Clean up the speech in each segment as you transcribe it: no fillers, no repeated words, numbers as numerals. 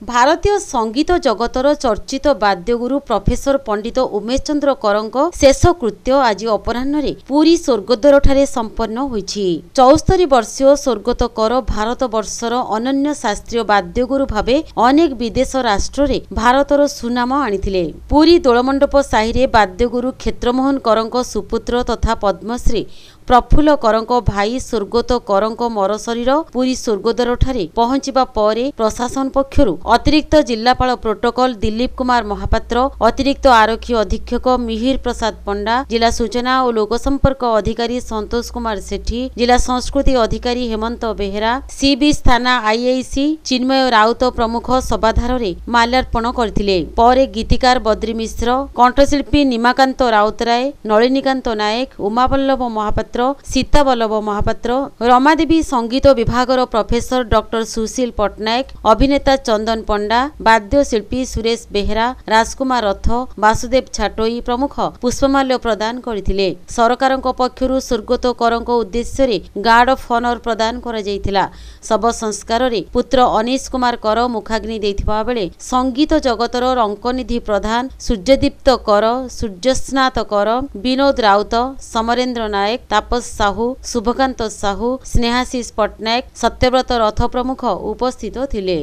ଭାରତୀୟ ସଙ୍ଗୀତ ଜଗତର ଚର୍ଚ୍ଚିତ ବାଦ୍ୟଗୁରୁ ପ୍ରଫେସର ପଣ୍ଡିତ ଉମେଶ ଚନ୍ଦ୍ର କରଙ୍କ ଶେଷକୃତ୍ୟ ଆଜି ଅପରାହ୍ନରେ ପୁରୀ ସ୍ୱର୍ଗଦ୍ୱାରଠାରେ ସମ୍ପନ୍ନ ହୋଇଛି। 74 ବର୍ଷୀୟ ସ୍ୱର୍ଗତ କର ଭାରତ ବର୍ଷର ଅନନ୍ୟ ଶାସ୍ତ୍ରୀୟ ବାଦ୍ୟଗୁରୁ ଭାବେ ଅନେକ ବିଦେଶ ରାଷ୍ଟ୍ରରେ ଭାରତର ସୁନାମ ଆଣିଥିଲେ। ପୁରୀ ଦୋଳମଣ୍ଡପ ସାହିରେ ବାଦ୍ୟଗୁରୁ କ୍ଷେତ୍ରମୋହନ କରଙ୍କ ସୁପୁତ୍ର ତଥା ପଦ୍ମଶ୍ରୀ ପ୍ରଫୁଲ୍ଲ କରଙ୍କ ଭାଇ ସ୍ୱର୍ଗତ କରଙ୍କ ମରଶରୀର ପୁରୀ ସ୍ୱର୍ଗଦ୍ୱାରଠାରେ ପହଞ୍ଚିବା ପରେ ପ୍ରଶାସନ ପକ୍ଷରୁ ଅତିରିକ୍ତ ଜିଲ୍ଲାପାଳ ପ୍ରୋଟୋକଲ ଦିଲ୍ଲୀପ କୁମାର ମହାପାତ୍ର, ଅତିରିକ୍ତ ଆରକ୍ଷୀ ଅଧୀକ୍ଷକ ମିହିର ପ୍ରସାଦ ପଣ୍ଡା, ଜିଲ୍ଲା ସୂଚନା ଓ ଲୋକସମ୍ପର୍କ ଅଧିକାରୀ ସନ୍ତୋଷ କୁମାର ସେଠୀ, ଜିଲ୍ଲା ସଂସ୍କୃତି ଅଧିକାରୀ ହେମନ୍ତ ବେହେରା, ସିବିଚ୍ ଥାନା ଆଇଆଇସି ଚିନ୍ମୟ ରାଉତ ପ୍ରମୁଖ ଶବାଧାରରେ ମାଲ୍ୟାର୍ପଣ କରିଥିଲେ। ପରେ ଗୀତିକାର ବଦ୍ରି ମିଶ୍ର, କଣ୍ଠଶିଳ୍ପୀ ନିମାକାନ୍ତ ରାଉତରାୟ, ନଳିନୀକାନ୍ତ ନାୟକ, ଉମାବଲ୍ଲଭ ମହାପାତ୍ର, ସୀତାବଲ୍ଲଭ ମହାପାତ୍ର, ରମାଦେବୀ ସଙ୍ଗୀତ ବିଭାଗର ପ୍ରଫେସର ଡକ୍ଟର ସୁଶୀଲ ପଟ୍ଟନାୟକ, ଅଭିନେତା ଚନ୍ଦନ ପଣ୍ଡା, ବାଦ୍ୟଶିଳ୍ପୀ ସୁରେଶ ବେହେରା, ରାଜକୁମାର ରଥ, ବାସୁଦେବ ଛାଟୋଇ ପ୍ରମୁଖ ପୁଷ୍ପମାଲ୍ୟ ପ୍ରଦାନ କରିଥିଲେ। ସରକାରଙ୍କ ପକ୍ଷରୁ ସ୍ୱର୍ଗତ କରଙ୍କ ଉଦ୍ଦେଶ୍ୟରେ ଗାର୍ଡ ଅଫ୍ ଅନର ପ୍ରଦାନ କରାଯାଇଥିଲା। ଶବ ସଂସ୍କାରରେ ପୁତ୍ର ଅନିଶ କୁମାର କର ମୁଖାଗ୍ନି ଦେଇଥିବା ବେଳେ ସଙ୍ଗୀତ ଜଗତର ରଙ୍କନିଧି ପ୍ରଧାନ, ସୂର୍ଯ୍ୟଦୀପ୍ତ କର, ସୂର୍ଯ୍ୟସ୍ନାତ କର, ବିନୋଦ ରାଉତ, ସମରେନ୍ଦ୍ର ନାୟକ, ତାପସ ସାହୁ, ଶୁଭକାନ୍ତ ସାହୁ, ସ୍ନେହାଶିଷ ପଟ୍ଟନାୟକ, ସତ୍ୟବ୍ରତ ରଥ ପ୍ରମୁଖ ଉପସ୍ଥିତ ଥିଲେ।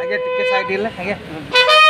ଆଜ୍ଞା, ଟିକେ ସାଇଡ୍ ହେଲେ ଆଜ୍ଞା।